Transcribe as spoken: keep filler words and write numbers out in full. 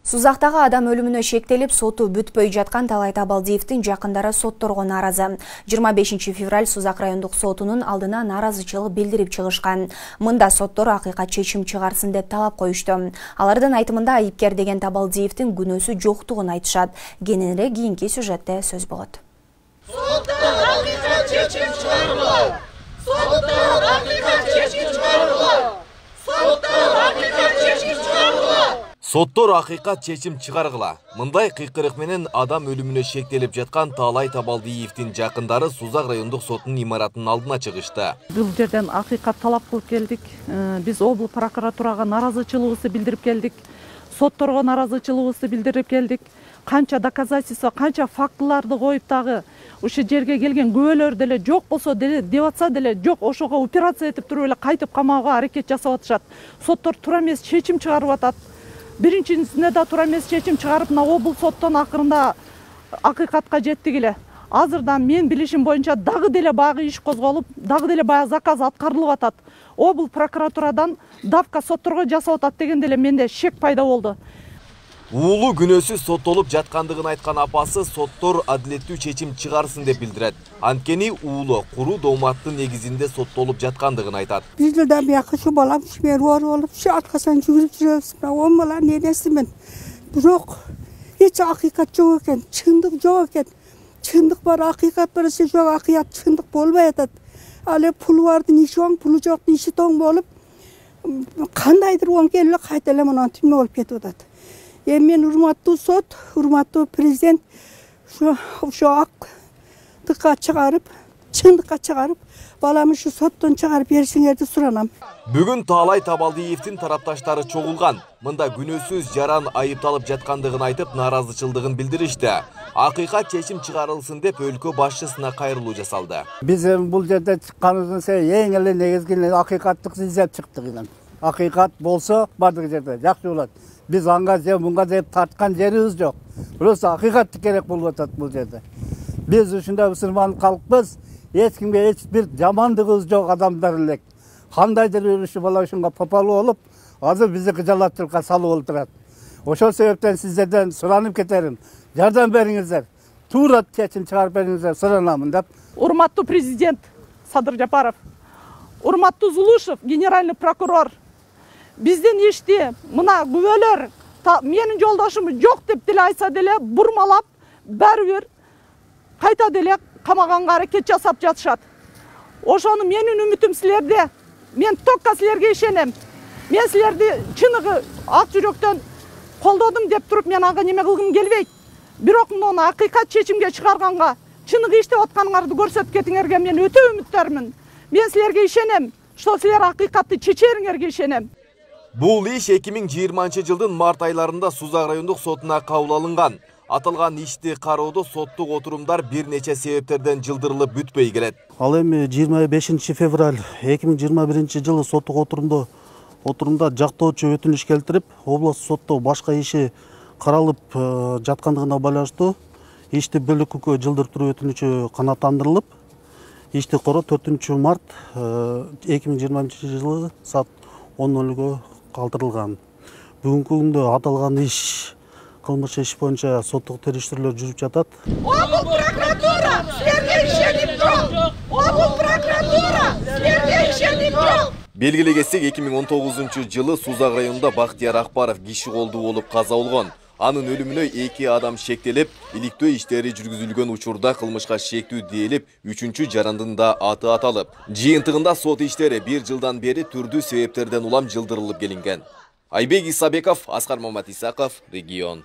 Сузактагы адам өлүмүнө шектелип, соту бүтпөй жаткан Талай Табалдиевдин жакындары сотторго нааразы. жыйырма бешинчи февраль Сузак райондук сотунун алдына нааразычылык билдирип чыгышкан. Мында соттор акыйкат чечим чыгарсын деп талап коюшту. Алардын айтымында айыпкер деген Табалдиевдин күнөөсү жоктугун айтышат. Кененирээк кийинки сюжетте сөз болот. Соттор акыйкат чечим чыгаргыла! Соттор акыйкат чечим чыгаргыла! Соттор акыйкат чечим чыгаргыла! Соттор акыйкат чечим чыгаргыла. Мындай кыйкырык менен адам өлүмүнө шектелип жаткан Талай Табалдиевдин жакындары Сузак райондук сотунун имаратынын алдына чыгышты. Бул жерден акыйкат талап кылып келдик. Биз облус прокуратурага нааразычылыгыбызды билдирип келдик. Сотторго нааразычылыгыбызды билдирип келдик. Канча доказательство, канча фактыларды коюп дагы ушул жерге келген күбөлөр деле жок болсо деле деп атса деле жок, ошого операция этип туруп эле кайтып камауга аракет жасап атышат. Соттор туура эмес чечим чыгарып атат. Биринчисине да туура эмес чечим чыгарып, мына облус соттон акырында акыйкатка жеттик эле. Азырда мен билишим боюнча дагы деле баягы иш козголуп, дагы деле баягы заказ аткарылып атат. Облус прокуратурадан давка сотторго жасап атат деген деле менде шек пайда болду. Уулу күнөөсүз соттолуп жаткандыгын айткан апасы соттор адилеттүү чечим чыгарсын деп билдирет. Анткени уулу куруу дооматтын негизинде соттолуп жаткандыгын айтат. Биз жылдан бияка ушу балам мен оор болуп, ушу аркасынан жүгүрүп жүрөбүз. он баланын энесимин. Бирок эч акыйкат жок экен, чындык жок экен. Чындык бар, акыйкат бар, жок акыйкат чындык болбой атат. Ал эми пулу бардын иши оң, пулу жоктун иши тоң болуп, кандайдыр оң келип кайта эле мына түмө болуп кетип атат. Эми мен урматтуу сот, урматтуу президент ушу ушу актыкка чыгарып, чындыкка чыгарып, баламды ушу соттон чыгарып беришиңерди суранам. Бүгүн Талай Табалдиевдин тарапташтары чогулган. Мында күнөөсүз жаран айыпталып жаткандыгын айтып, нааразычылыгын билдиришти. Акыйкат чечим чыгарылсын деп өлкө башчысына кайрылуу жасалды. Биз эми бул жерде чыкканыбыздын эң эле негизги акыйкаттык издеп чыктык элем. Акыйкат болсо бардык жерде жакшы болот. Биз анга же мунга деп тарткан жерибиз жок. Просто акыйкат керек болуп атат бул жерде. Биз ушундай мусулман калкпыз. Эч кимге эч бир жамандыгыбыз жок адамдар элек. Кандайдыр бир ушу бала ушунга попалуу болуп, азыр бизди кыжалаттыкка салып отурат. Ошол себептен сиздерден суранып кетерим. Жардам бериңиздер. Туура чечим чыгарып бериңиздер, суранамын деп. Урматтуу президент Садыр Жапаров, урматтуу Зулушев, генеральный прокурор, биздин ишти мына күбөлөр менин жолдошум жок деп деле айтса деле бурмалап, баары бир кайта деле камаганга аракет жасап жатышат. Ошону менин үмүтүм силерде. Мен токка силерге ишенем. Мен силерди чыныгы ак жүрөктөн колдодум деп туруп мен ага неме кылгым келбейт. Бирок муну акыйкат чечимге чыгарганга, чыныгы иштеп атканыңарды көрсөтүп кетиңерге мен өтө үмүттөрмүн. Мен силерге ишенем. Ошо силер акыйкатты чечериңерге ишенем. Бул иш эки миң жыйырманчы жылдын март айларында Сузак райондук сотуна кабыл алынган. Аталган ишти кароодо соттук отурумдар бир нече себептерден жылдырылып бүтпөй келет. Ал эми жыйырма бешинчи февраль эки миң жыйырма биринчи жылы соттук отурумда отурумда жактоочу өтүнүш келтирип, облустук сотто башка иши каралып жаткандыгына байланыштуу ишти бөлөккө жылдыртуу өтүнүчү канааттандырылып, ишти короо төртүнчү март эки миң жыйырма биринчи жылы саат он нөлгө калтырылган. Бүгүнкү күндө аталган иш кылмыш иш боюнча соттук териштирүүлөр жүрүп жатат. Облус прокуратура силерге ишеним жок. Облус прокуратура силерге ишеним жок. Белгилей кетсек, эки миң он тогузунчу жылы Сузак районунда Бактияр Акбаров киши колдуу болуп каза болгон. Анын өлүмүнө эки адам шектелип, иликтөө иштери жүргүзүлгөн учурда кылмышка шектүү дээлип, үчүнчү жарандын да аты аталып. Жыйынтыгында сот иштери бир жылдан бери түрдүү себептерден улам жылдырылып келинген. Айбек Исабеков, Аскар Маматисаков, Регион.